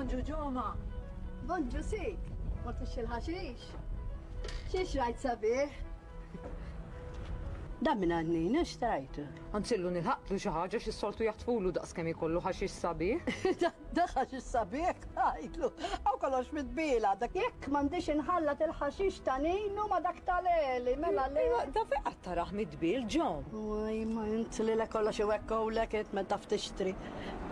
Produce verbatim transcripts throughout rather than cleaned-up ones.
Bonġu Ġoma. Bonġu sik, mort il-ħaxix. Xiex rajt sabiħ? Da minn għannina xtrajtu. Anzillu nilħaqtlu xi ħaġa xi soltu jaħtfulu daqs kemm ikollu ħaxix sabiħ. Da ħaxix sabiħ għajtlu. Għaw kollox mitbila, dak jekk m'għandix inħallat il-ħaxix ta' Ninu ma dak tal-Eli, mela le. Da fejn qatt tarah mitbil Ġom. Uj, ma int li le kollox iwekkowlek int ma taf tixtri.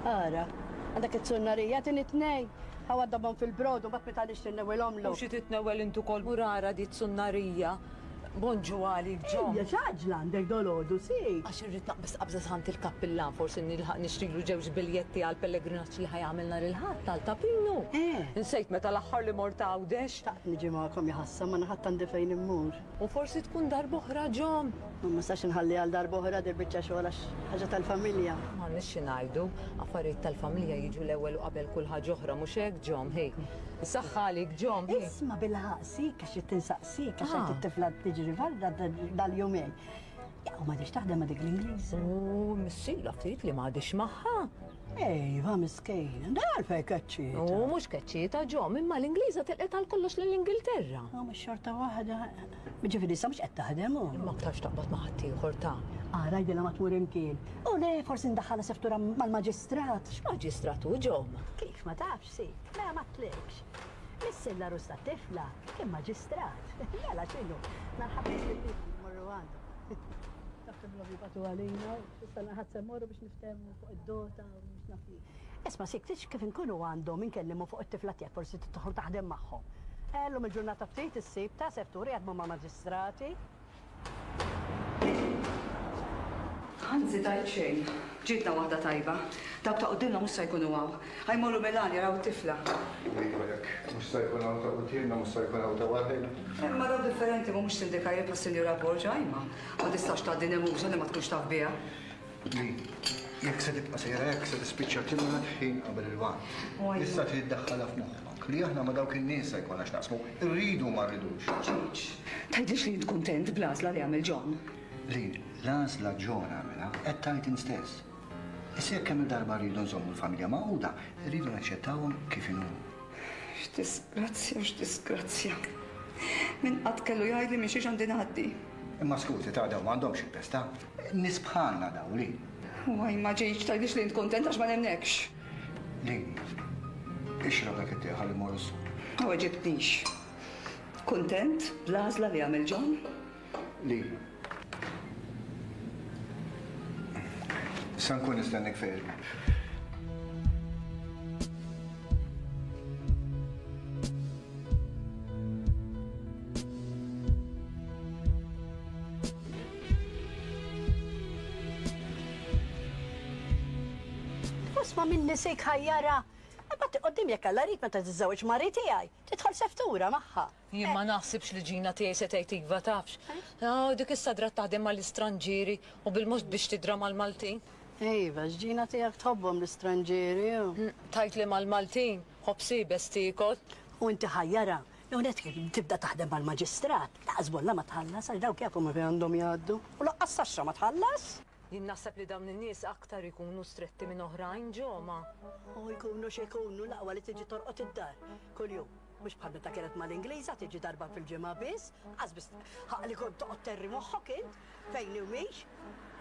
Ara, għandak it-sunnarija tin it-tnejn. Għaw għaddabhom fil-brodu, bat meta nixtri nnewwilhomlu. U xi titnewwel int ukoll murara di t-sunnarija. Bonġu għalik, Ġom. Ejja, x'għaġla għandek dolodu, si. Għax irrid naqbeż qabża sħant il-kappillan, forsi nilħaq nixtrilu ġewġ biljetti għal pellegrinaġġ li ħajamel nhar il-Ħadd għal Ta' Pinu. Eh. Insejt meta l-aħħar li mort Għawdex. Xtaqt niġi magħkom jaħassa, ma naħadd għandi fejn immur. U forsi tkun darb'oħra, Ġom. Ma nistax inħalli għal darb'oħra dir biċċa xogħol għax ħaġa tal-familja. M'għandniex xi ngħidu, affarijiet tal-familja jiġu l-ewwel u qabel kull ħaġa oħra, mhux hekk, Ġom, hi. Saħħa għalik, Ġom, hi. Isma' bil-ħaqq, sik, għax qed tinsaqsik, għax Ah. qed it-tifla tiġri barra dal-jumejn. Ja, u m'għadix taħdem ma' dik l-Ingliż. U missila ftit li m'għadix magħha. Ejva, miskejna, da għalfejn keċċieta. U mhux keċċieta, Ġom, imma l-Ingliża telqet għal kollox lill-Ingilterra. U mhux xorta waħda. Ġifieri issa mhux qed taħdem u. Imma aktarx taqbad ma' ħaddieħor ta'. Ara jgħidilha ma tmur imkien. U le, forsi ndaħħalha seftura mal-maġistrat. X'maġistrat hu, Ġom? Kif ma tafx, si, mela ma tlekx. Missilla rus ta' tifla, kien maġistrat. Mela x'inhu, narħab morru għandu. Taf kemm jibgħatu għalina, issa naħat se mmorru biex niftehmu fuq id-dota u mhux naf jien. Isma' sik, tix kif inkunu għandhom inkellimu fuq it-tifla tiegħek, forsi tidħol taħdem magħhom. Ellum il-ġurnata ftit issib ta' sefturi jaħdmu ma' maġistrati. Anzi tajt xejn, ġietna waħda tajba. Dawk ta' qudiemna mhux se jkunu hawn. Ħa jmorru Milan jaraw it-tifla. Iva jekk mhux se jkun hawn ta' quddiemna, mhux se jkun hawn ta' warajna. Imma dawk differenti mhumiex sindikajri bħas-Sinjura Borg, ajma. Ma tistax tgħaddi nemuża li ma tkunx taf biha. Li, jekk se tibqa' sejra hekk se tispiċċa timrad ħin qabel il-waqt. Issa trid iddaħħalha f'moħħok li aħna ma' dawk in-nies se jkollna x'naqsmu, irridu ma rridux. Ġiġ, tgħidlix li int kuntent bl-għażla li għamel John. Li, l-għażla John għamilha qed tgħid int stess. Issa jekk kemm il-darba rridu nżommu l-familja magħquda, rridu naċċettawhom kif inhu. X'disgrazzja, x'disgrazzja. Min qatt kellu jgħidli minn xiex għandi ngħaddi. Imma skużi ta' daw m'għandhomx il-pesta. Nies bħalna daw li. Uaj, ma ġejtx tgħidlix li int kuntent għax ma nemnekx. Li, ixrob dak it-tieħ ħalli mmorru s-suq. Ma weġibtnix. Kuntent bl-għażla li għamel John? Li. Sa nkun nistennik fejn. Isma' minni sejk ħajjara. Imbagħad qoddim jekk Alla rid meta tiżżewweġ mari tiegħi, tidħol seftura magħha. Jien ma naħsibx li ġina tiegħi se tgħid iva tafx. Ah, dik issa drat taħdem mal-istranġieri u bil-mod biex tidra mal-Maltin. Iva, x'ġina tiegħek tħobbhom l-istranġieri. Mm, Tajt li mal-Maltin, ħobsi bes tiekol. U inti ħajjara, jew net kif tibda taħdem mal-maġistrat, laqas bolla ma tħallas għax dawk jafu ma fejn għandhom jgħaddu. U laqqas taxxa ma tħallas. Jien naħseb li dawn in-nies aktar ikunu stretti minn oħrajn ġoma. U jkunu x'ikunu l-aqwa li tiġi torqod id-dar kuljum. Mhux bħal meta kienet mal-Ingliża tiġi darba fil-ġimgħa biss, qas biss ħaq li kont toqgħod terri moħħok int fejn u mhix.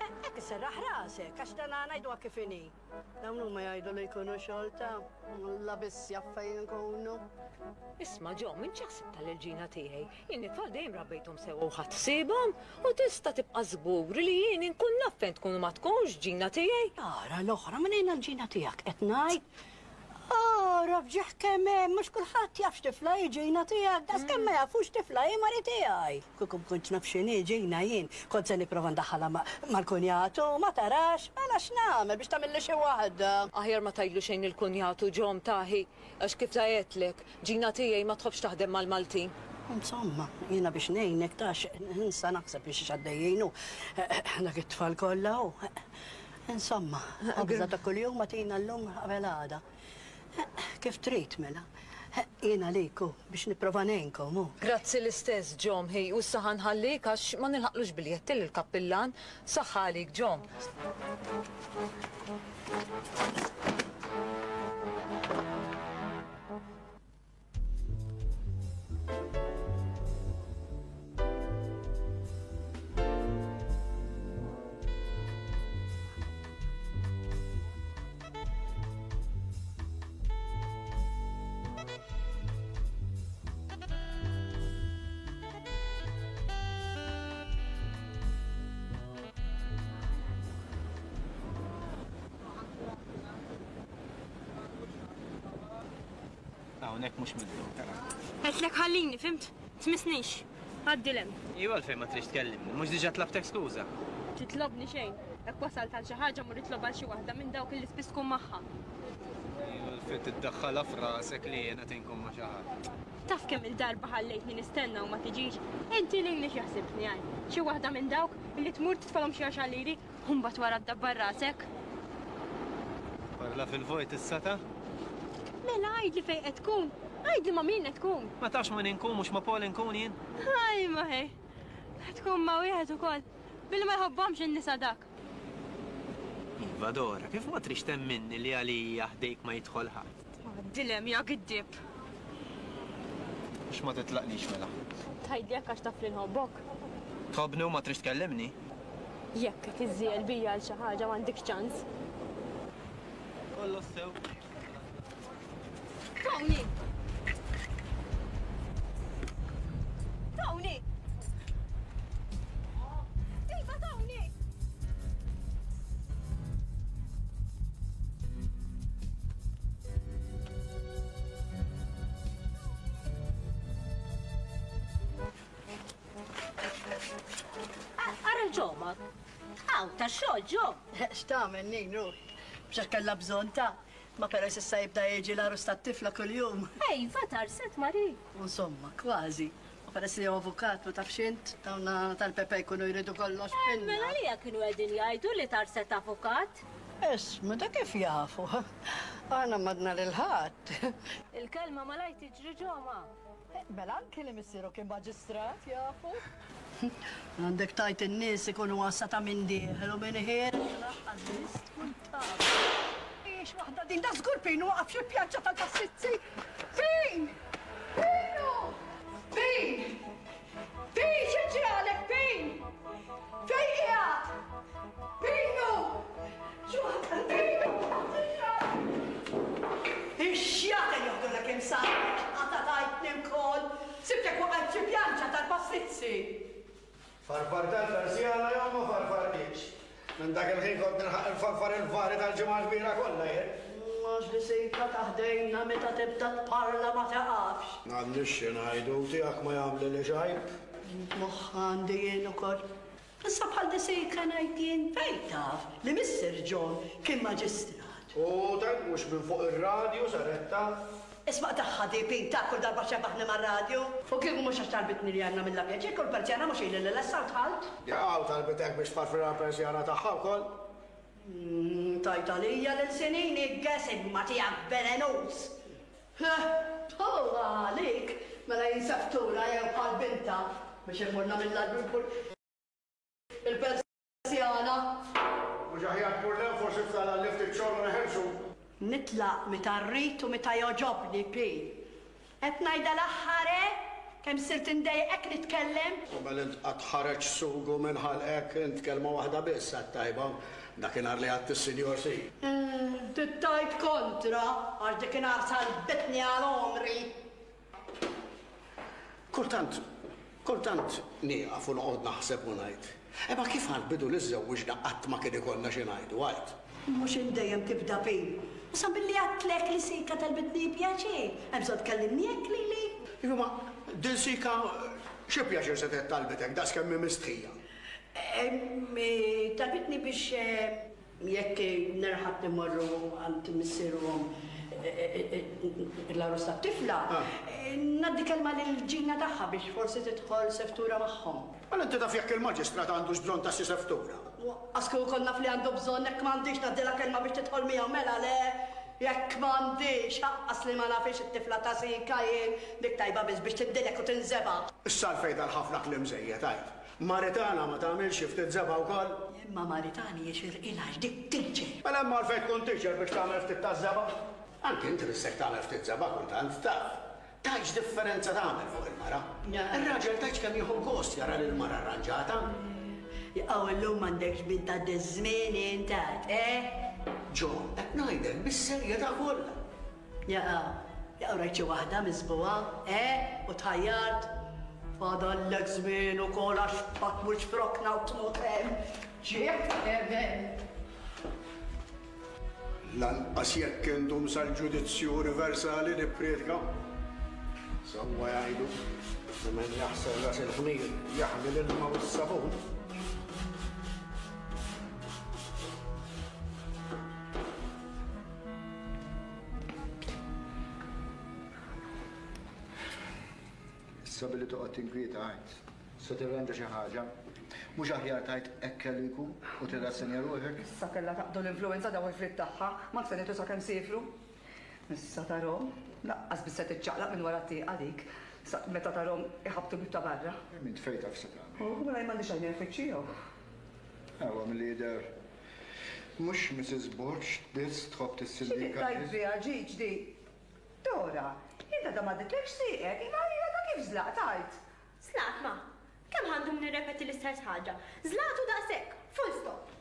Hekk isserraħ rasek għax dan ngħiduha kif inhi. Dawn huma jgħidu li jkunu xorta, la biss jaf fejn ikunu. Isma' ġo, minn ċaħsib tal-ġina tiegħi. Jien it-tfal dejjem rabbejthom sewwa u ħadd ħsiebhom u tista' tibqa' żgur li jien inkun naf fejn tkun u ma tkunx ġina tiegħi. Ara l-oħra minn ejna l-ġina tiegħek qed ngħid. Ara fġieħ kemm hemm, mhux kulħadd jaf x'tifla hi ġina tiegħek, daqs kemm ma jafux tifla hi mari tiegħi. Kieku kontx naf x'inhi ġina jien, kont se nipprova ndaħħalha ma-, mal-kunjatu, ma tarax, mela x'nagħmel biex tagħmilli xi waħda. Aħjar ma tgħidlu xejn il-kunjatu ġom taħi, għax kif tgħidlek, ġina tiegħi ma tħobbx taħdem mal-Maltin. Insomma, jiena biex ngħinek tax insa naħseb biex x'għaddejjin hu dak it-tfal kollha hu. Insomma, ħobża ta' kuljum ma tina llum qabel għada. Kif trid mela? Jiena għalik hu biex nipprova ngħinkom hu. Grazzi l-istess ġom hi, u issa ħanħallik għax ma nilħaqlux biljetti lill-kappillan. Saħħa għalik ġom. Hawnhekk mhux midluk tara. Għedtlek ħallini, fimt? Tmissnix. Għaddi 'l hemm. Iva għalfejn ma tridx tkellimni, mhux diġà tlabtek skuża. Titlobni xejn. Hekk wasalt għal xi ħaġa mur itlob għal xi waħda minn dawk li spiss tkun magħha. Iva għalfejn tiddaħħalha f'rasek li jiena tinkun ma' xi ħadd. Taf kemm il-darba ħallejtni nistenna u ma tiġix. Inti lili x'jaħsibni għaj. Xi waħda minn dawk li tmur titfalhom xi għaxar liri u mbagħad wara ddabbar rasek. Parla fil-vojt issa ta'? Mela għidli fejn qed tkun. Għidli ma' min qed tkun. Ma tafx ma' inkun mhux ma' Paul inkun jien. Ħaj ma ħej. Qed tkun ma' wieħed ukoll. Billi ma jħobbhomx in-nisa dak. Iva Dora, kif ma trix temminni li għalija ħdejk ma jidħol ħadd? Dilem ja giddib. Mhux ma titlaqnix mela. Tgħidli hekk għax taf li nħobbok. Tħobbni u ma trix tkellimni? Jekk qed iżżiel bija għal xi ħaġa m'għandekx ċans. Kollox sew. Tony! Tony! Iva Tony! Ara l-ġomak. Għaw, ta' xogħol ġom. X'tagħmel Ninu? Biex kellha bżonn ta' ma però s'issa jibda jiġi l-għarus tat-tifla kuljum. Ej, vatar set Mari. Insomma, kważi. U peress li hu avukat ma tafx int, dawna tal-Pepe jkunu jridu kollox Eh, Mela li kienu qegħdin jgħidu li tarset avukat. Isma, da kif jafu? Aħna madna lil ħadd. Il-kelma malaj tiġri ġoma. Mela anki li missieru kien maġistrat jafu. Għandek tajt in-nies ikunu għassa ta' minn dieħel u minn ħiereġ laqqas biss tkun taf. Ix waħda din da żgur Pinu waqaf xi pjanċa tal-passizzi. Pin! Pinu! Pin! Pin xi ġralek Pin? Fejn qiegħed? Pinu! X'waħda Pinu! Ix-xjaten joħdulek imsarek, għata tajtni wkoll. Sibtek waqgħet xi pjanċa tal-passizzi. Farfar tal-persjana jew ma farfartix. Minn dak il-ħin kont nilħaq il-farfar il-vari tal-ġimgħa kbira kollha jien. Mhux li sejka taħdejna meta tibda tparla ma taqafx. M'għandix xi ngħidu tiegħek ma jagħmli li xajb. Moħħ għandi jien ukoll. Issa bħal disejka ngħid jien fejn taf li Missier John kien maġistrat. U tajt mhux minn fuq ir-radju saret taf. Isma' tagħha di Pin ta' kull darba xebaħni mar-radju. U kieku mhux għax talbitni li għandna mill pjaċir kull persjana mhux ili li lessa u dħalt. Jaqgħu talbitek biex tfarfirha l-persjana tagħha wkoll. Tajt għalija lil sinini ggesim ma tiegħek velenus. Towa għalik mela jinseftura jew bħal binta biex imurna mill-adru il-persjana. Mhux aħjar tmur lem forsi f'tala li ftit xogħol u neħelsu. Nitlaq meta rrid u meta jogħġobni Pin. Qed ngħidha l-aħħar eh? Kemm sirt indejqek nitkellem? U mela int qatt ħareġ sugu minn ħalqek int kelma waħda biss għat-tajba dakinhar li għadt is-Sinjor Si. Tittajt kontra għax dakinhar salbitni għal għomri. Kultant, kultant nieqaf u noqgħod naħseb u ngħid. Imma kif għall-bidu li żżewwiġna qatt ma kien ikollna xi ngħidu għajt. Mhux indejjem tibda Pin. Issa billi għadtlek li sika talbitni pjaċir. Hemm bżonn tkellimni hekk lili. Iva ma din sika xi pjaċir se talbitek daqs kemm hi mistħija. Talbitni biex jekk nerħab nimorru għand missierhom l-għarus tat-tifla, ngħaddi kelma lil ġina tagħha biex forsi tidħol seftura magħhom. Mela inti taf jekk il-maġistrat għandux bżonn ta' xi seftura. Għax konna fli għandu bżonn jekk m'għandix ngħaddilha kelma biex tidħol miegħu mela le jekk m'għandix ħaqqas li ma nafix it-tifla ta' sika jien dik tajba biss biex tindilek u tinżeba'. Issa għalfejn dal-ħafna kliem żejjed għid. Maritana ma tagħmilx xi ftit żebgħa wkoll? Imma Maritani jixirqilha għax dik teacher. Mela hemm għalfejn tkun teacher biex tagħmel ftit taż-żebgħa? Anke inti tissek tagħmel ftit żebgħa kultant taf. Tgħidx differenza tagħmel fuq il-mara. Ir-raġel tgħidx kemm jieħu gost jara lil mara arranġata. Jaqgħu llum m'għandekx bint ta' żmien intat, eh? Ġo, qed ngħidlek bis-serjetà kollha. Jaqgħu, jaqgħu rajt xi waħda miżbugħa, eh? U tħajjart. Fadallek żmien ukoll għax ma tmurx frokna u tmut hemm. Ġiet hemm. Lanqas jekk indum sal-ġudizzju universali nippriedka. Sewwa jgħidu li min jaħsel ras il-ħmir jaħli l-ilma u s-sabun. Issa billi toqgħod tinkwieta għajt, se tirranġa xi ħaġa. Mhux aħjar tajt hekk kellu jkun u tirrassenja ruħek. Issa kellha taqdu l-influenza daw il-frit tagħha, ma tfenitu sakemm siefru. Issa tarhom, laqqas biss se tiċċaqlaq minn wara t-tieqa dik, meta tarhom iħabbtu bib ta' barra. Min tfejn taf se tagħmel. U mela m'għandix għajnejn nfittxihom. Ewa milli jidher mhux Missus Borg biss tħobb tissillika. Xi tajt biha ġiġ di? Dora, inta da m'għadditlekx sieqek, imma hija ta' kif żlaqt għajt. Żlaqt ma. Kemm għandhom nirrepeti l-istess ħaġa? Żlaqtu daqshekk, full stop.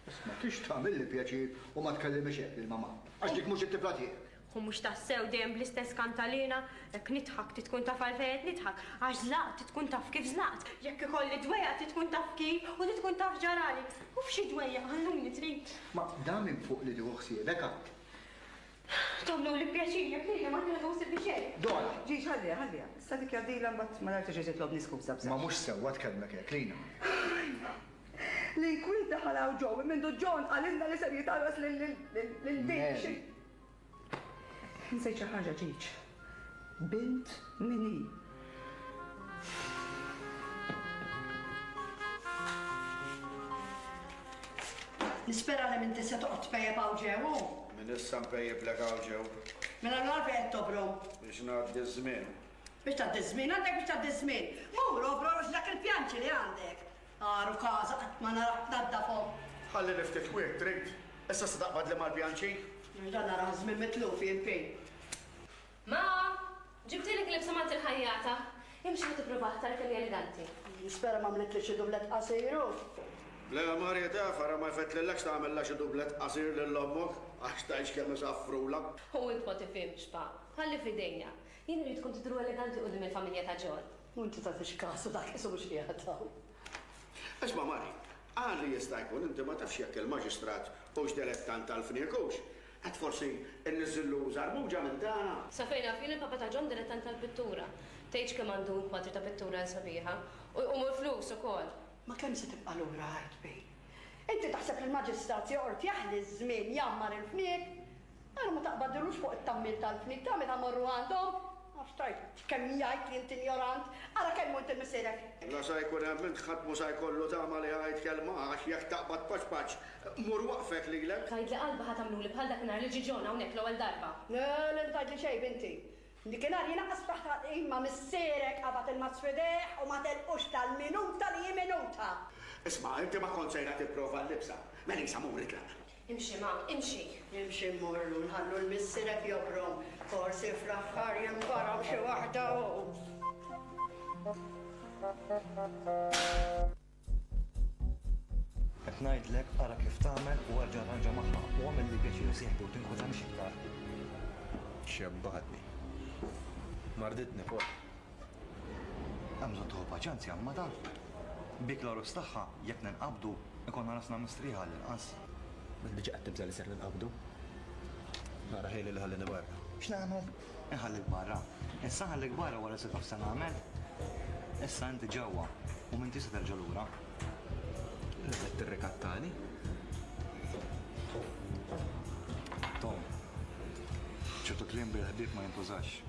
Isma' tix tagħmilli pjaċir u ma tkellimix hekk lil mamà. Għax dik mhux it-tifla tiegħek. U mhux tassew dejjem bl-istess kantalina, jekk nidħak tkun taf għalfejn qed nidħak, għax żlaqt tkun taf kif żlaqt, jekk ikolli dwejjaq tkun taf kif u tkun taf ġarali. U f'xi dwejjaq ħalluni trid. Ma dan minn fuq li tieħu ħsiebek għad. Tagħmlu li pjaċir jekk lili ma tieħdu ħsieb xejn. Dora! Ġiex ħalliha, ħalliha. Issa dik jgħaddilha mbagħad ma narġax titlobni skuża bżonn. Ma mhux sewwa tkellmek hekk, Lina. Li jkun daħal hawn ġew minn John qalilna li ser jitgħarras lil lil Nsejt xi ħaġa ġiġ. Bint min hi? Nispera li m'inti se toqgħod tpejjeb hawn ġew. Min issa npejjeblek hawn ġew. Mela l-għalfejn qed tobrom. Biex ngħaddi ż-żmien. Biex tgħaddi ż-żmien, għandek biex tgħaddi ż-żmien. Mur obrom għax dak il-pjanċi li għandek. Għaru każa qatt ma narak tnaddafhom. Ħalli li ftit kwiet trid. Issa se taqbad li mal-pjanċi? Dan nara żmien mitluf jien pin. Ma, ġibtilek libsa mant il-ħajjata. Imxi ħa tipprova tara kemm hi eleganti. Nispera ma għamlitli xi dublet qasir hu. Le Marja taf, ara ma jfettlilekx tagħmilha xi dublet qasir lil ommok għax tgħix kemm isaffrula. U int ma tifhimx pa, ħalli f'idejja. Jien rridkom tidhru eleganti quddiem il-familja ta' John. U inti tagħtix kasu dak isu mhux qiegħed hawn. Isma' Mari, għal li jista' jkun inti ma tafx jekk il-maġistrat hux dilettant tal-fniek hux. Għad forsi nniżillu żarbuġa minn tagħna. Sa fejn naf jien il-papa ta' John dilettant tal-pittura. Tgħidx kemm għandu kwadri ta' pittura sabiħa u jqumu l-flus ukoll. Ma kemm se tibqa' lura għajt bi? Inti taħseb li l-maġistrat joqgħod jaħli ż-żmien jammar il-fniek? Ara ma taqbadilux fuq it-tammil tal-fniek ta' meta morru għandhom. Għax tajt kemm jgħid li inti ignorant, ara kemm int il-missierek. La sa jkun hemm int ħadd mhu sa jkollu tama li ħajt kelma għax jekk taqbad paċ paċ mur waqfek lilek. Tgħidli qalba ħa tagħmluli bħal dakinhar li ġie John hawnhekk l-ewwel darba. Le, le tgħidli xejn binti. Dikinhar jien aqas taħt imma missierek qabad il-mazz f'idejh u ma telqux tal-minuta li hi minuta. Isma' inti ma kont sejra tipprova l-libsa. Mela isa mur itlaq. Imxi ma, imxi. Imxi mmorru nħallu l-missierek jobrom. Forsi fl-aħħar jinbaram xi waħda hu. Qed ngħidlek ara kif tagħmel u erġa' arranġa magħha u għamel li pjaċir sieħbi u tinkwetani iktar. Xebbatni. Marditni fuq. Hemm bżonn tieħu paċenzja ma taf. Bik l-għarus tagħha jekk ninqabdu ikonna rasna mistrieħa għall-inqas. Diġà qed tibża' li ser ninqabdu. Nara ħejli li ħallini barra. X'nagħmel? Inħallik barra. Issa nħallik barra wara se taf se nagħmel. Issa inti ġewwa u m'intix se terġa' lura. Li qed tirrikattani? Tom, ċertu kliem bil-ħbieb ma jintużax.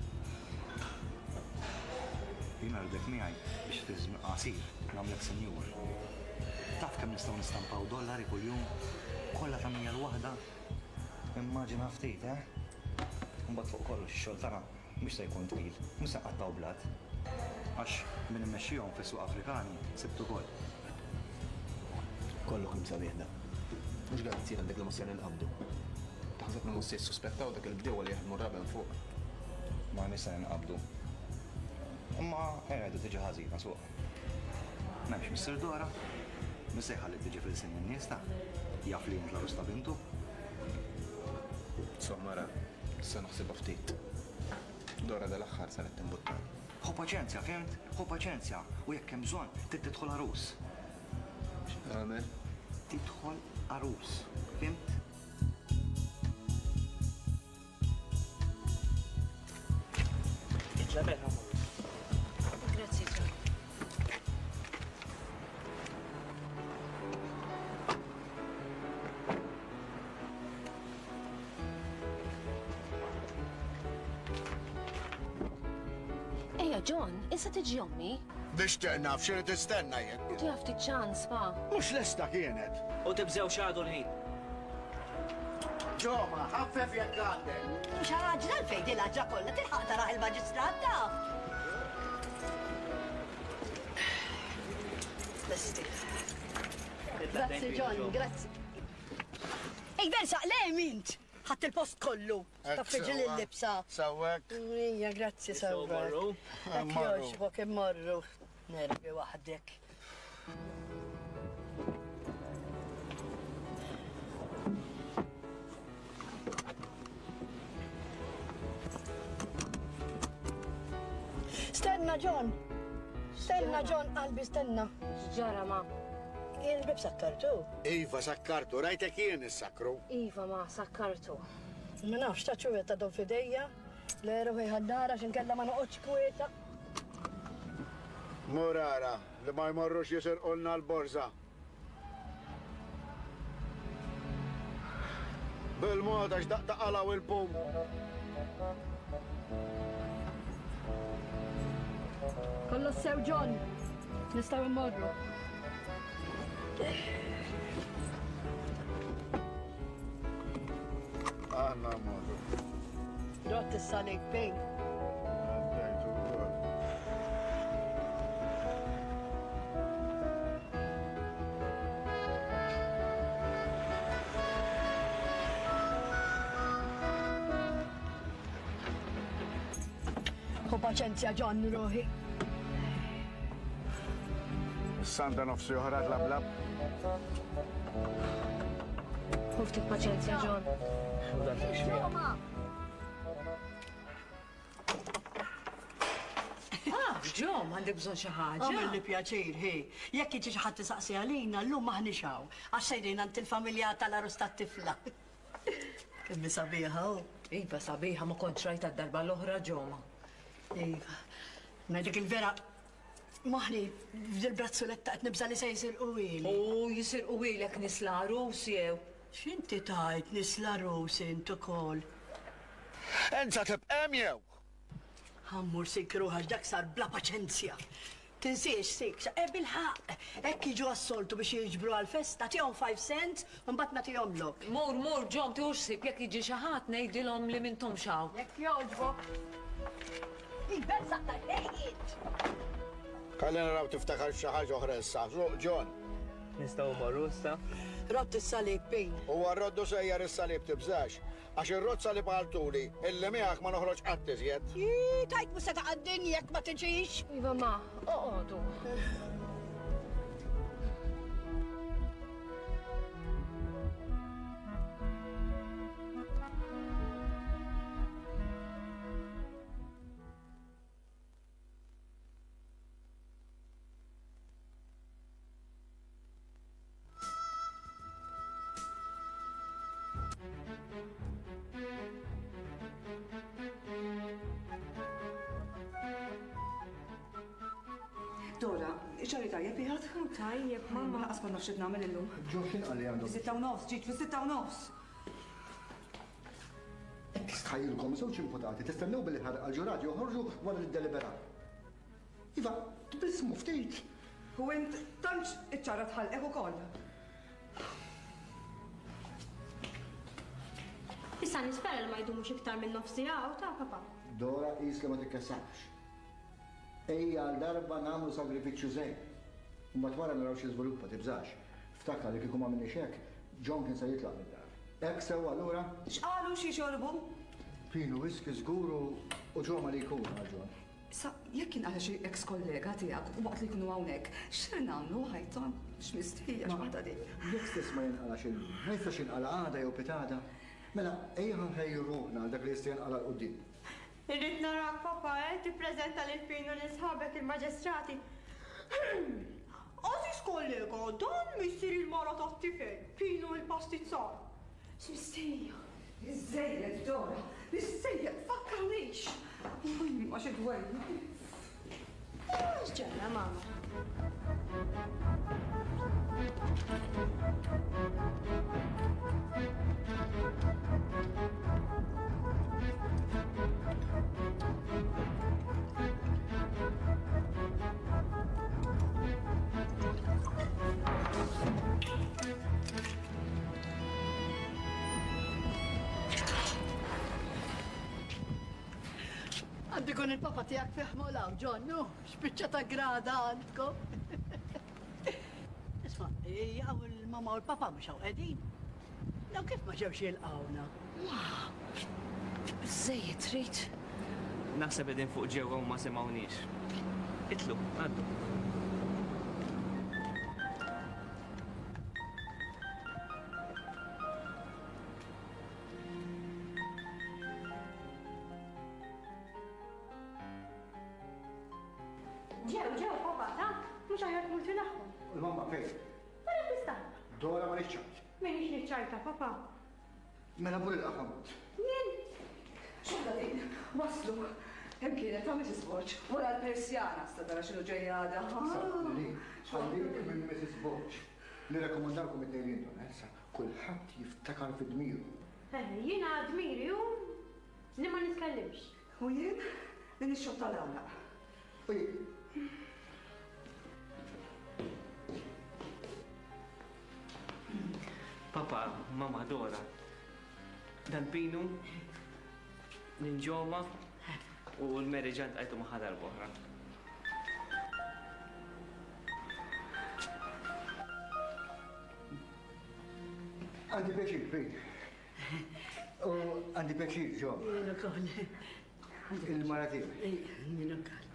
Jiena rridek miegħi biex fi żmien qasir nagħmlek senjur. Taf kemm nistgħu nistampaw dollari kuljum? Kollha ta' mija l-waħda. Immaġina ftit, eh? Imbagħad fuq kollox ix-xogħol tagħna mhux se jkun twil, mhux se nqattgħu blat. Għax min immexxihom fis-suq Afrikani sibt ukoll. Kollu kemm sabiħ da. Mhux garanzija għandek li mhux se ninqabdu. Taħseb li mhux se jissuspettaw dak il-bdiewa li jaħdmu r-raben fuq. Ma nista' ninqabdu. Imma qiegħda tiġi ħażina suq. M'hemmx Mister Dora, mhux se jħalli tiġi fil-sin in-nies ta' jaf li int l-għarus ta' bintu. Insomma, ra, se naħsibha ftit. Dora dal-aħħar saret timbuttani. Ħu paċenzja, fimt? Ħu paċenzja. U jekk hemm bżonn, trid tidħol għarus. X'nagħmel? Tidħol għarus, fimt? Itla' mela. John, issa tiġi ommi. Nixtieq naf xi tistenna jien. U tieħu ftit ċans, pa. Mhux lesta kienet. U tibżew x'għadu l-ħin. Ġoma, ħaffef jekk għandek. Mhux ħaġa għalfejn din l-ħaġa kollha tilħaq taraħ il-maġistrat taf. Lesti. Grazzi John, grazzi. Ej, versa, le mint! Ħadd il-post kollu. Taffiġi l-libsa. Sawwek. Ija, grazzi sawwek. Hekk jogħġbok immorru. Nervi waħdek. Stenna, John. Stenna, John, qalbi, stenna. X'ġara, ma? Il-bib sakkartu. Iva, sakkartu, rajtek jien is-sakru. Iva, ma, sakkartu. Ma nafx, ta' ċuwet ta' don fidejja. Le ruħi ħaddara x'inkella ma noqgħodx kwieta. Murara, li ma jmorrux jisirqulna l-borża. Bil-mod għax daqta qalaw il-pum. Kollox sew, John. Nistgħu immorru. Aħna mmorru. Rott is-salib bejn. Għaddejtu wkoll. Ħu paċenzja, John, ruħi. Sanda nofsi oħra tlablab. Ħu ftit paċenzja, John. Ah, John, għandek bżonn xi ħaġa. Għamilli pjaċir, hi. Jekk jiġi xi ħadd isaqsi għalina, llum m'aħniex hawn. Għax sejrin għand il-familja tal-għarus tat-tifla. Kemm hi sabiħa hu. Iva, sabiħa, ma kontx rajta d-darba l-oħra, Ġoma. Iva. Ngħidlek il-vera, maħni f'dil-brazzoletta qed nibża' li se jisirqu ili. U jisirqu ilek nies l-għarus jew. X'inti tajt nies l-għarus int ukoll? Enza tibqa' hemm jew? Ħammur sik ruħax dak sar bla paċenzja. Tinsiex sik, e bil-ħaqq, hekk jiġu għas-soltu biex jiġbru għal-festa, tihom five cents u mbagħad nagħtihomlok. Mur, mur, Ġom, tiħux ħsieb jekk jiġi xi ħadd ngħidilhom li m'intomx hawn. Jekk jogħġbok. Il-berżaq tal-ħejjiet! Ħalli naraw tiftakar xi ħaġa oħra issa. Suq, John. Nistgħu mmorru issa? Rott is-salib, Pin. Huwa rroddu sejjer is-salib tibżax. Għax ir-rott salib għaltuli, illi miegħek ma noħroġ qatt iżjed. Ii, tajt mhux se taqaddin jekk ma tiġix. Iva, ma, oqogħdu. Dora, ċari tajjeb jgħad? Tajjeb, mamma. Laqas ma nafx nagħmel illum. Ġo x'in qal li għandhom? Sitta u nofs, ġiet fis-sitta u nofs. Stħajjilkom żewġ imputati tistennew billi ħarqa l-ġurati joħorġu wara li ddeliberaw. Iva, tbissmu ftit. U int tantx iċċara tħallqek ukoll. Issa nispera li ma jdumux iktar minn nofs siegħa u ta' papa. Dora qis li ma tikkessax. Ejja għal darba nagħmlu sagrifiċċju żejn. U mbagħad wara naraw xi żviluppa tibżax. Ftakar li kieku ma minniex hekk, John kien se jitlaq mid-dar. Hekk sewwa allura? X'qalu xi xorbu? Pinu whisky żgur u ġoma li jkun għal John. Sa jekk kien għal xi ex kollega tiegħek u waqt li jkunu hawnhekk, x'ser nagħmlu ħajton? X'mistħija x'waħda din. Jekk stess ma jinqalax illum, ma jistax jinqala għada jew pitada. Mela, ejja nħejju ruħna għal dak li jista' jinqala 'l quddiem. Irrid narak papa, eh, tippreżenta lil Pinu lil sħabek il-maġistrati. Għażiż kollega, dan missier il-mara tat-tifel, Pinu il-pastizzar. X'mistħija? Iżżejjed, Dora, iżżejjed, fakkarnix. Ma xi dwejn. X'ġara, mama? Għandu jkun il-papa tiegħek fih molaw, John, nu, x'biċċa ta' grada għandkom. Isma', jaqgħu il-mama u l-papa mhux hawn qegħdin. Daw kif ma ġewx jilqgħuna? Biżżejjed trid. Naħseb qegħdin fuq ġewwa u ma semgħuniex. Itlu, għaddu. Ġew, ġew, papa, ta' mhux aħjar tmur tilagħhom. Il-mamma fejn? Wara tistaqna. Dora ma niċċajt. Minix niċċajta, papa. Mela mur il-qafam. Jien? Xogħla din, waslu. Hemm kienet ta' Missus Borg, wara l-Persjana sta tara x'inhu ġejja għada. Li, ħallik minn Missus Borg. Nirrakkomandalkom it-tnejn li intom, issa kulħadd jiftakar fi dmiru. Eh, jiena dmiri hu li ma nitkellimx. U jien li nixxotta l-għalaq. Papa, mama Dora. Dal-Pinu, Ninġoma u l-Mary ġant għajtu maħħa darb'oħra. Għandi pjaċir, Pin. U għandi pjaċir, ġo. Jien ukoll. Il-mara tiegħi. Jien ukoll.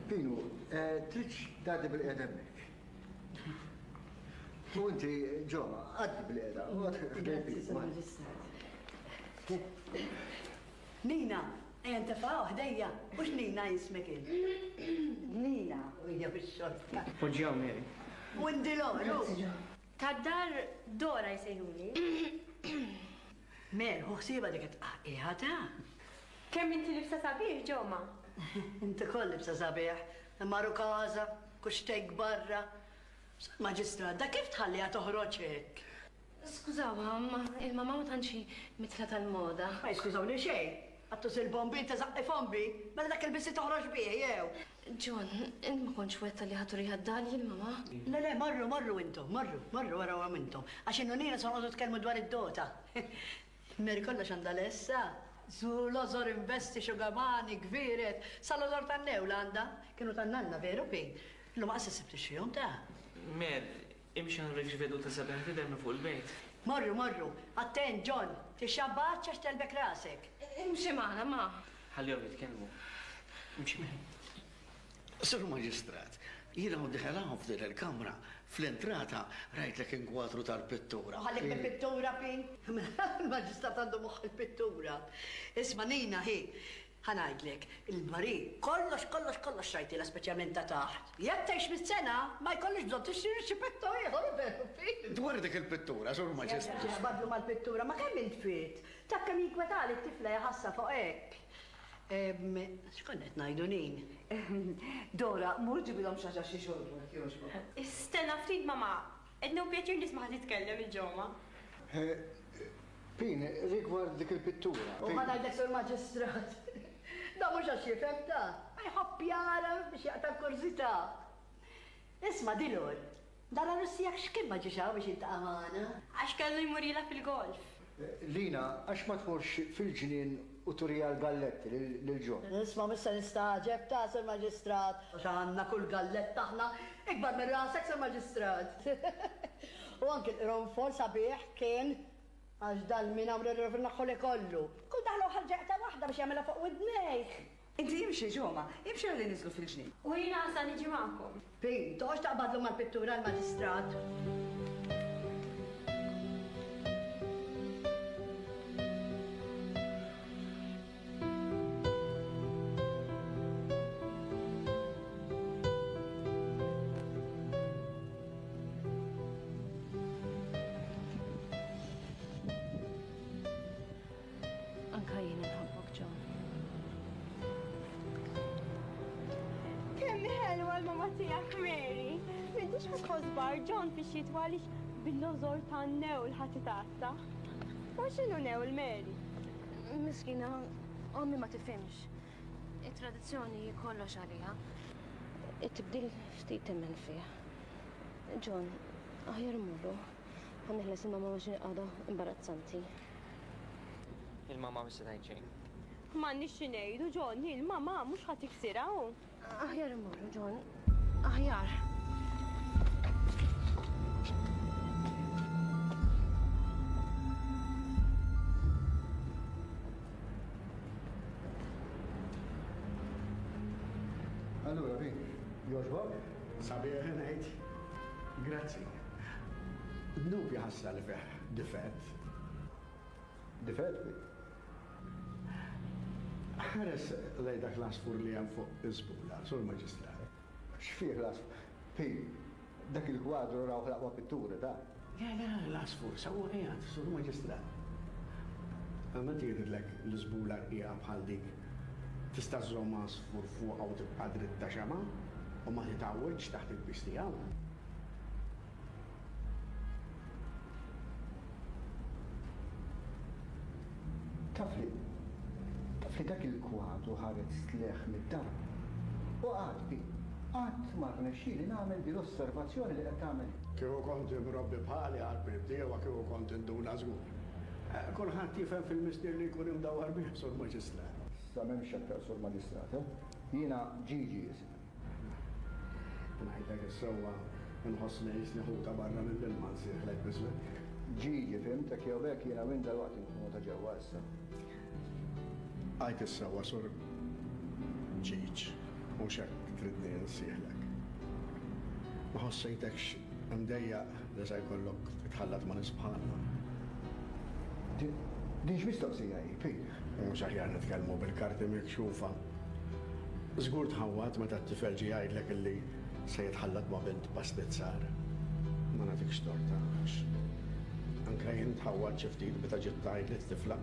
Pinu, tridx tgħaddi bil-qiegħda hemmhekk. U inti, ġo, għaddi bil-qiegħda. Grazzi, Sur Maġistrat. Nina, ejja ntefgħu ħdejja, mhux Nina jismek int. Nina, u hija bix-xorta. Poġġjaw, Mary. U ndilor, Tad-dar Dora jsejħuli. Mer, hu ħsieba dik it-tqaqqiħa ta'. Kemm inti libsa sabiħ, Ġoma? Inti koll libsa sabiħ, imma rukaża, kuxtejk barra. Sur Maġistrat, da kif tħalliha toħroġ hekk? Skużawha, ma il-mamma ma tantx hi mitla tal-moda. Ma jiskużawni xejn. Għattus il-bombi ta' zaqqi fombi, mela dak il-bissi toħroġ bih jew. John, int ma kontx wetta li ħaturiha d-dar jien mamma. Le, le, marru, marru intom, marru, marru warawhom intom. Għax innu nina se noqogħdu tkellmu dwar id-dota. Mary kollox għandha lessa. Zu l-ozor investi xugamani, gviret, sal-ozor tan-newla għandha. Kienu tan-nanna veru pin. Illum qas issib tixtrihom ta'. Mer, imxi ħanrik x'veduta sabiħa tidher minn fuq il-bejt. Morru, morru, attent, John, tixxabbatx għax telbek rasek. Imxi magħna, ma. Ħallihom jitkellmu. Imxi magħna. Sur Maġistrat, jiena u diħel hawn f'din il-kamra, fl-entrata rajtlek inkwadru tal-pittura. Ħallik mill-pittura, Pin. Il-Maġistrat għandu moħħ il-pittura. Isma' Nina, hi, ħa ngħidlek, il-mari kollox, kollox, kollox xrajtilha speċjalment ta' taħt. Jekk tgħix mit-sena, ma jkollix bżonn tixtri xi petto ieħor, veru, Pin. Dwar dik il-pittura, Sur Maġistrat. Badlu mal-pittura, ma kemm int fit? Ta' kemm jinkwetali t-tifla jħassa fuq hekk. X'konna qed ngħidu Nin? Dora, mur ġibilhom xi ħaġa xi xorbu jekk jogħġbok. Stenna ftit, mamma. Qed nieħu pjaċir nisma' titkellem il-ġoma. Pin, rigward dik il-pittura. U ħa ngħidlek Sur Maġistrat. Da mhux għax jifhem ta' ma jħobb jara biex jaqta' l-kurżità. Isma' Dilor, dara Russijak x'kien ma ġiex hawn biex jiltaqa' magħna? Għax kellu jmur jilgħab il-golf. Lina, għax ma tmurx fil-ġnien u turija l-galletti lil John? Isma' mhux se nistagħġeb ta' Sur Maġistrat. Għax għandna kull galletta aħna ikbar minn rasek Sur Maġistrat. U anke l-qronfol sabiħ kien għax dal-min għamlu r-rifnaħħu kollu. Kull daħlu ħarġa waħda biex jagħmilha fuq widnejh. Inti imxi Ġoma, imxi għalli niżlu fil-ġnien. U jiena għasa niġi magħkom. Pin, toqgħodx taqbadlu mal-pittura l-Maġistrat. Anka jien inħobbok, John. Kemm ħelwa l-mama tiegħek, Mary. M'intix ħa tħoss bar John fix-xitwa għaliex bil-lożor tan-newl ħadd itgħatta. Ma x'inhu newl, Mary? Miskina, ommi ma tifhimx. It-tradizzjoni kollox għaliha. It-tibdil ftit temmen fih. John, aħjar mmorru. Ħa neħles il-mama biex għadha imbarazzanti. Il-mama mhux se tgħid xejn. M'għandniex xi ngħidu, John, il-mamà mhux ħa tiksirha hu. Aħjar immorru, John. Aħjar. Allura, Vin, jogħġbok? Sabiħ ngħid. Grazzi. Dnub jaħassa li fih difett. Difett? Ħares lej dak l-għasfur li hemm fuq iż-żbula, sur maġistrat. X'fih l-għasfur? Pin, dak il-kwadru rawh l-aqwa pittura, ta'? Le, le, l-għasfur, sewwa qiegħed, sur maġistrat. Meta jidhirlek l-iżbula rqiqa bħal dik, tista' żżomm għasfur fuqha u tibqa' dritta xemgħa u ma titgħawwiġx taħt il-piż tiegħu. Taf li, taf li dak il-kwadru ħareġ sleħ mid-dar. U qatt, Pin, qatt ma rnexxieli nagħmel din l-osservazzjoni li qed tagħmel. Kieku kont imrobbi bħali għal bdiewa kieku kont induna żgur. Kulħadd jifhem fil-mistier li jkun imdawwar bih, sur maġistrat. Sa m'hemmx aktar sur maġistrat, eh? Jiena Ġiġi ismi. Ngħidlek is-sewwa nħossni qisni ħuta barra mill-ilma nsieħlek biżmek. Ġiġi, fhimtek jew hekk jiena minn dalwaqt inkunu ta' ġewwa issa. Għajt is-sewwa sur Ġiġ, mhux hekk tridni nsieħlek. Ma ħossejtekx imdejjaq li se jkollok titħallat ma' nies bħalna. Din x'mistoqsija hi, Pin? Mhux aħjar nitkellmu bil-karti mikxufa. Żgur tħawwad meta t-tifel ġie jgħidlek illi se jitħallat ma' bint pastizzar. Ma nagħtikx torta għax anke jien tħawwad xi ftit meta ġiet tgħid li t-tifla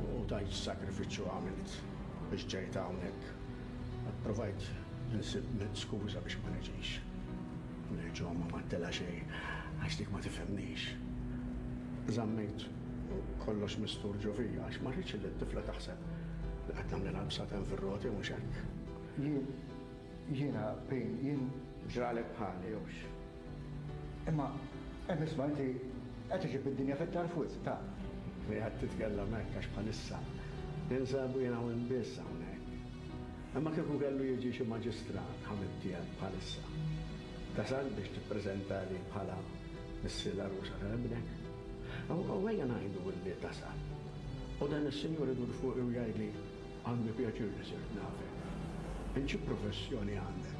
u tgħid x'sakrifiċċju għamilt biex ġejt hawnhekk. Provajt insib skuża biex ma niġix. Lil ġo ma m'għedtilha xejn għax dik ma tifhimnix. Żammejt kollox mistur ġo fija għax ma rridx li t-tifla taħseb li qed nagħmlilha bsaten fir-roti mhux hekk. Jien, jiena, Pin, jien ġralek bħali hux. Imma hemm isma' inti qed iġib id-dinja fit-tarf wisq, ta'. Li qed titkellem hekk għax bħalissa ninsabu jiena u biss hawnhekk. Imma kieku kellu jiġi xi maġistrat ħabib tiegħek bħalissa. Tasal biex tippreżentali bħala missier l-għarusa ta' ibnek. U ejja ngħidu li tasal. U dan is-sinjur idur fuqi u jgħidli għandi pjaċir li sirt nafek. Int xi professjoni għandek?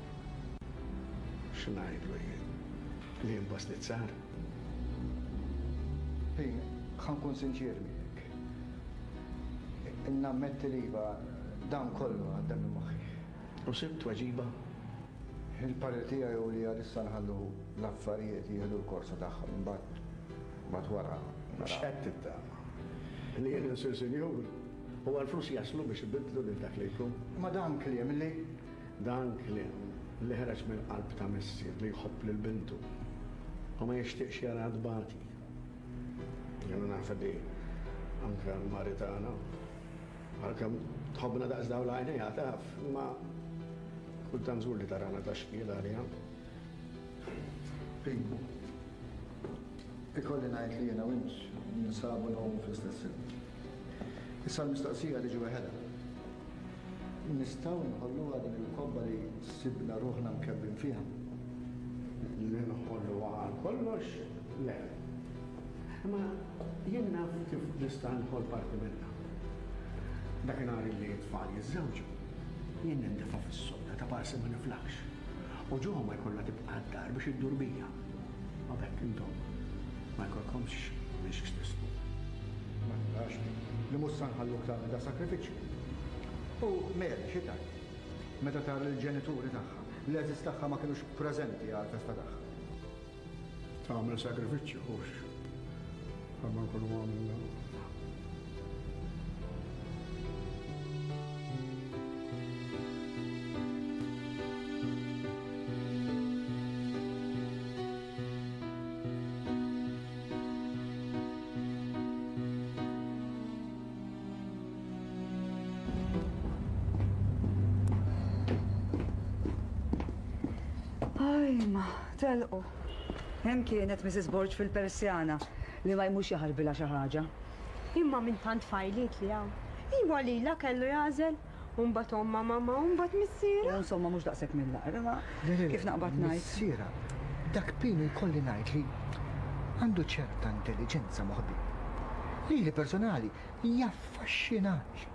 X'ngħidlu jien? Li jien pastizzar? Pin, ħa nkun sinċier miegħek. Nammetti li iva dan kollu għadda minn moħħi. U sibt tweġiba? Il-parir tiegħi hu li għalissa nħallu l-affarijiet jieħdu l-korsa tagħhom imbagħad mbagħad wara. X'qed tittama? Li jien insir sinjur u għall-flus jaslu biex ibiddlu lil dak li jkun. Ma dan kliem li Dan kliem li ħareġ mill-qalb ta' missier li jħobb lil bintu u ma jixtieqx jara tbati. Jiena naf li anke l-mari tagħna għalkemm tħobbna daqs dawn l-għajnejha taf, imma kultant żgur li tarana ta' xkiel għaliha. Pin, ikolli ngħid li jiena u int ninsabu ngħumu fl-istess ilma. Issa l-mistoqsija tiġi weħedha. Nistgħu nħolluha din il-kobba li sibna ruħna mkebbin fiha? Li nħolluha għal kollox? Le. Imma jien naf kif nista' nħoll parti minnha. Dakinhar li t-tfal jiżżewġu, jien nintefa' fis-sodda ta' parsi ma niflaħx. U ġo ma jkollha tibqa' d-dar biex iddur bija. Ma b'hekk intom ma jkollkomx biex tisbu. Ma narax li mhux se nħalluk tagħmel da sakrifiċċju. U Mary xi tgħid? Meta tara l-ġenituri tagħha, l-għeżież tagħha ma kinux preżenti għall-festa tagħha. Tagħmel sakrifiċċju hux. Bħalma nkunu għamilna. Ajma, telqu. Hemm kienet Missus Borg fil-Persjana li ma jmux jaħarbilha xi ħaġa. Imma minn tant fajliet li hawn. Iwa lila kellu jagħżel. U mbagħad omma mamma u mbagħad missiera. Insomma mhux daqshekk mill-aqra, ma kif naqbad ngħid. Missiera, dak Pinu jkolli ngħid li għandu ċerta intelligenza moħbi. Lili personali jaffaxxinani.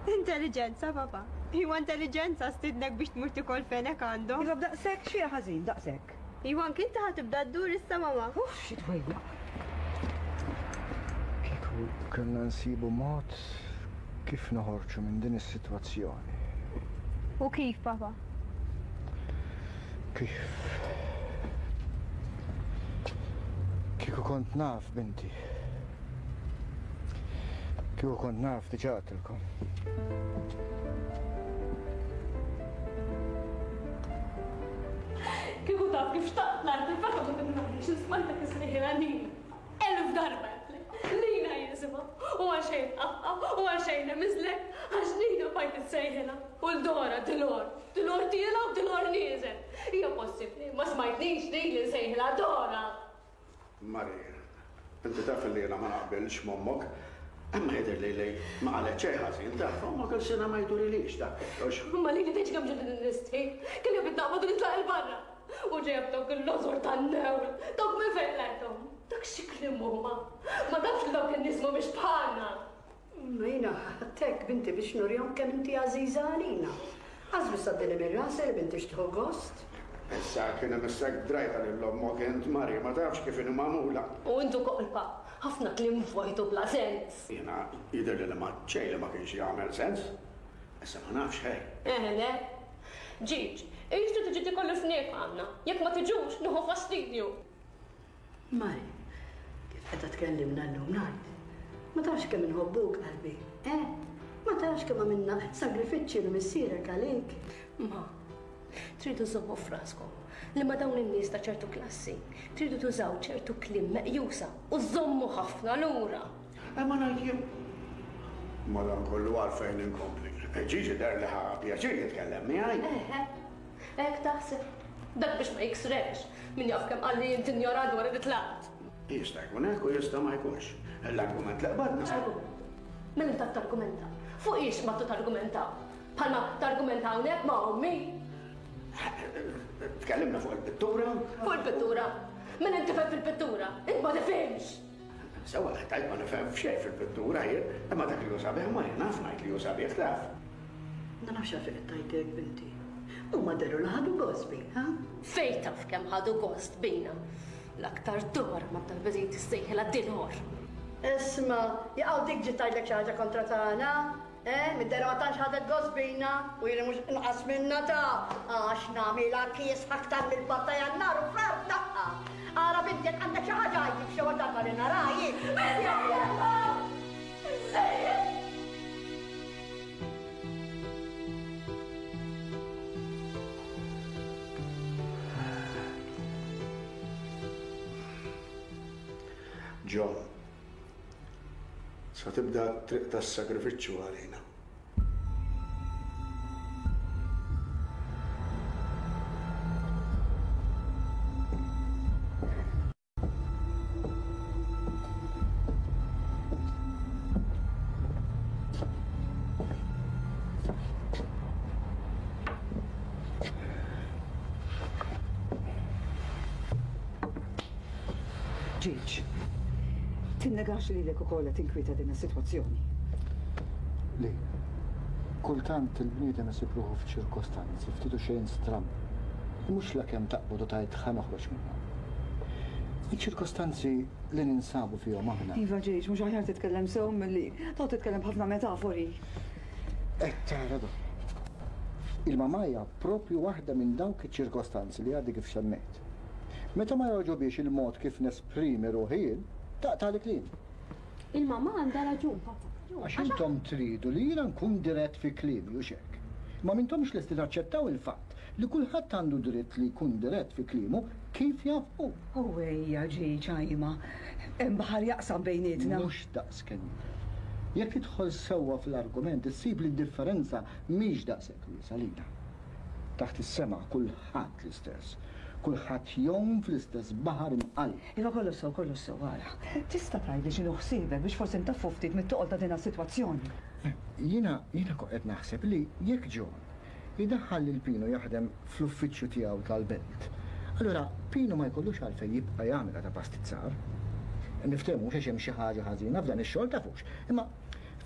Intelligenza, papa. Iwa intelligenza stidnek biex tmur tikol fenek għandhom. Iva b'daqshekk xi ħażin, daqshekk. Iwa anke inti ħa tibda ddur issa mama. Uff, xi twejja. Kieku kellna nsibu mod kif noħorġu minn din is-sitwazzjoni. U kif, papa? Kif? Kieku kont naf, binti. Kieku kont naf diġà għedtilkom. Kieku taf kif xtaqt l-art il-fatta kont nagħmel smajtek isriħilha Nina. Elf darba għedtlek. Nina jisimha. U għaxejn qafqa u għaxejn miżlek għax Nina bajt issejħilha. U l-Dora Dilor, Dilor tiela u Dilor nieżel. Hija possibbli ma smajtnix lili nsejħilha Dora. Marija, inti taf li jiena ma naqbilx m'ommok. Imma jidher li li ma qalet xejn ħażin taf, ommok il-sena ma jdurilix dak kollox. Imma lili tgħidx kemm ġiet nistħi, kelli bid naqbad u nitlaq il barra. U ġejja b'dawk il-lożor tan-newl, dawk minn fejn lajthom. Dak xi kliem huma. Ma tafx li dawk in-nies mhumiex bħalna. Ma jiena ħadtek binti biex nurihom kemm inti għażiża għalina. Għażlu saddili minn rasi li binti xtieħu gost. Issa kien imissek drajta lil ommok int Mari, ma tafx kif inhu magħmula. U intu kolpa, ħafna kliem vojtu bla sens. Jiena jidher li ma xejn li ma kienx jagħmel sens. Issa ma nafx ħej. Eh le. Ġiġ, ixtru tiġi tikollu fniek għandna. Jekk ma tiġux, nieħu fastidju. Mari, kif qed tkellimna llum ngħid. Ma tafx kemm inħobbuk qalbi, eh? Ma tafx kemm għamilna sagrifiċċji li missierek għalik. Ma, tridu żommu f'raskom li ma dawn in-nies ta' ċertu klassi tridu tużaw ċertu kliem meqjusa u żommu ħafna lura. Imma ngħid jien. Madankollu għalfejn inkompli. Ġiġi der li ħa pjaċir jitkellem miegħi. Eħe, hekk taħseb. Dak biex ma jiksrex, min jaf kemm qalli int injorant wara li tlaqt. Jista' jkun hekk u jista' ma jkunx. L-argument li qbadna. Argument. Mela inta targumenta. Fuq ix ma targumenta. Bħalma targumenta hawnhekk ma' ommi. Tkellimna fuq il-pittura. Fuq il-pittura? Mela inti fhem fil-pittura, int ma tifhimx. Sewa tajt ma nifhem f'xejn fil-pittura jien, imma dak li hu sabiħ ma jien naf ngħid li hu sabiħ taf. Ma nafx għalfejn qed tgħidlek binti. Huma dehru li ħadu gost bina, ha? Fejn taf kemm ħadu gost bina. L-aktar Dora ma tal-beżin tissejħilha Dilor. Isma, jaqgħu dik ġiet tgħidlek xi ħaġa kontra tagħna. Eh, mid-dera ma tantx ħadet gost bina u jiena mhux inqas minna ta' għax nagħmilha kies aktar mill-batta jannar u frar daqqa. Ara binti jekk għandek xi ħaġa għidli b'xi darba li nara jien. John, sa tibda triq tas-sagrifiċċju għalina. Ġiġ, tinnegax lilek ukoll qed tinkwieta din is-sitwazzjoni. Li, kultant il-bniedem isib ruħu f'ċirkostanzi ftit u xejn stramb. Mhux la kemm taqbad u tgħid ħa noħroġ minnhom. Iċ-ċirkostanzi li ninsabu fihom aħna. Iva Ġiġ, mhux aħjar titkellem sew milli toqgħod titkellem b'ħafna metafori. Qed tara do. Il-mamà hija propju waħda minn dawk iċ-ċirkostanzi li għaddi kif semmejt. Meta ma jogħġobix il-mod kif nesprimi ruħi jien, taqta' li kliem. Il-mamà għandha raġun, papa. Għax intom tridu li jiena nkun dirett fi kliemi u xek. Ma mintomx lesti taċċettaw il-fatt li kulħadd għandu dritt li jkun dirett fi kliemu kif jaf hu. U ejja Ġiġ ħajma, hemm baħar jaqsam bejnietna. Mhux daqs kemm jidher. Jekk tidħol sewwa fl-argument issib li d-differenza mhix daqshekk wiesgħa lina. Taħt is-sema kulħadd l-istess. Kulħadd jgħum fl-istess baħar imqall. Iva kollu sew, kollu sew, ara. Tista' tgħidli x'inhu ħsiebek biex forsi ntaffu ftit mit-toqol ta' din is-sitwazzjoni. Jiena jiena kont qed naħseb li jekk John idaħħal lil Pino jaħdem fl-uffiċċju tiegħu tal-belt, allura Pino ma jkollux għalfejn jibqa' jagħmilha ta' pastizzar. Niftehmu mhux għax hemm xi ħaġa ħażina f'dan ix-xogħol tafux, imma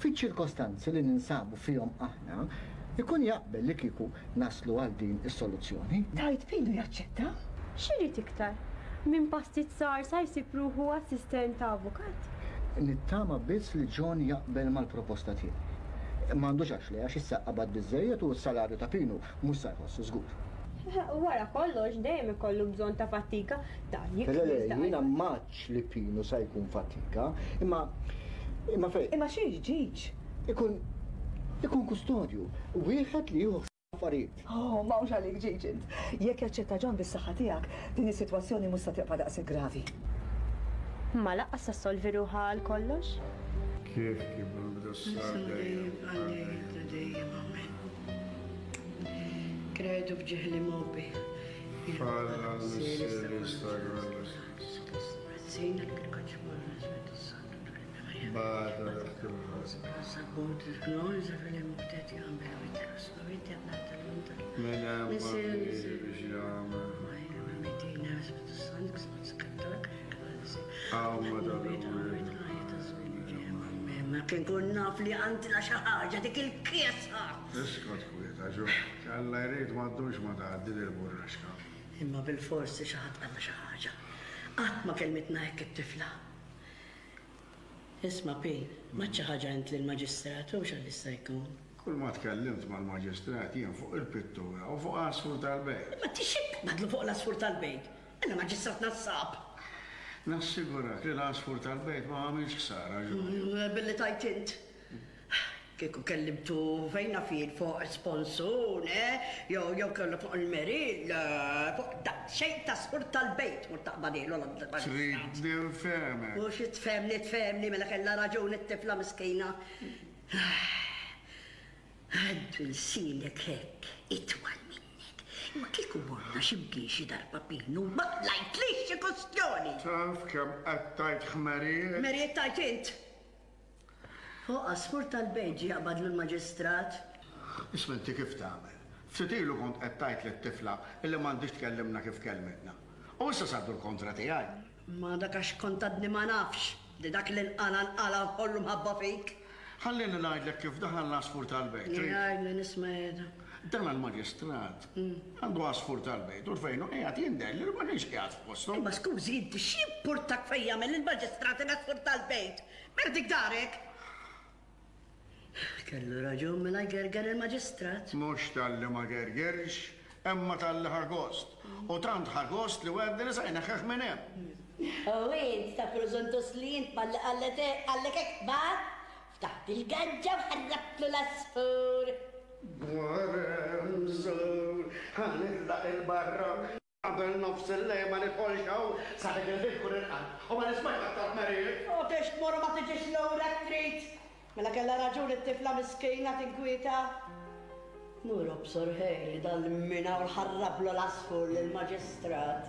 fiċ-ċirkostanzi li ninsabu fihom aħna, ikun jaqbel li kieku naslu għal din is-soluzzjoni. Tgħid Pino jaċċetta? X'irid iktar? Minn pastizzar sa jsib ruħu assistent ta' avukat? Nittama biss li John jaqbel mal-proposta tiegħi. M'għandux għax le, għax issa qabad biżżejjed u s-salarju ta' Pinu mhux sa jħossu żgur. Wara kollox dejjem ikollu bżonn ta' fatika, dan Le, le, jikbir dan. jiena m'għadx li Pinu sa jkun fatika, imma imma fejn. Imma xiex ġiġ? Ikun ikun kustodju, wieħed li jieħu affarijiet. Oh, m'hawnx għalik ġiġ int. Jekk jaċċetta John bis-saħħa tiegħek, din is-sitwazzjoni mhux sa tibqa' daqshekk gravi. Ma lanqas sa ssolvi ruħha għal kollox. Kif kif nbdu Dejjem għalli dejjem amen. Kredu b'ġeħli mobbi. Ma kien kun naf li għandna xi ħaġa dik il-kiesa. Iskot kwieta, ġo. Alla jrid ma ddumx ma tgħaddi dil-burraxka. Imma bil-forsi xi ħadd qalna xi ħaġa. Qatt ma kelmitna hekk it-tifla. Isma' Pin, ma xi ħaġa int lill-maġistrat u x'għal issa jkun. Kull ma tkellimt mal-maġistrat jien fuq il-pittura u fuq għasfur tal-bejt. Ma tixib madlu fuq l-asfur tal-bejt. Illa maġistrat nassab. Nassigurak li l-għasfur tal-bejt ma għamilx ħsara, ġo. Billi tajt int. Kieku kellimtu fejna fil fuq sponsun, eh? Jew jew kellu fuq il-meril, fuq da xejn ta' sfur tal-bejt mur taqbadilu Trid ninfehmek. U xi tfehmni tfehmni mela kellha raġun it-tifla miskina. Għaddu lsinek hekk, itwal minnek. Imma kieku morna x'imkien xi darba Pinu ma qlajtlix xi kustjoni. Taf kemm qed tgħid ħmerijiet? Merijiet tajt int. Fuq għasfur tal-bejt ġie jaqbadlu l-maġistrat. Isma' inti kif tagħmel? Ftit ilu kont qed tgħid lit-tifla illi m'għandix tkellimna kif kelmitna. U issa saddu l-kontra tiegħi. Ma dak għax kont għadni ma nafx li dak li nqala nqala kollu mħabba fik. Ħallini ngħidlek kif daħal l-għasfur tal-bejt. trid? Jgħidli nisma' jgħidha. Dan il-maġistrat għandu għasfur tal-bejt u fejnu qiegħed jindel li ma kienx qiegħed f'postu. Imma skużi inti x'jimpurtak fejn jagħmel il-maġistrat il-għasfur tal-bejt? Mela dik darek. Kellu raġun mela jgerger il-maġistrat. Mhux talli ma gergerx, imma talli ħa gost. U tant ħa gost li wegħedni li se jneħħeh minn hemm. U int ta' preżuntus li int malli qallet qallek hekk mar, ftaħt il-gaġġa u ħarrabtlu l-għasfur. Mżur, ħa nitlaq il-barra. Qabel nofs il-lejl ma nidħolx hawn sa dik il-ħin kun irqad. U ma nismax aktar ħmerijiet. U biex tmur u ma tiġix lura trid. Mela kellha raġun it-tifla miskina tinkwieta. Mur obsor ħej li dal-mina u ħarrablu l-għasfur lill-maġistrat.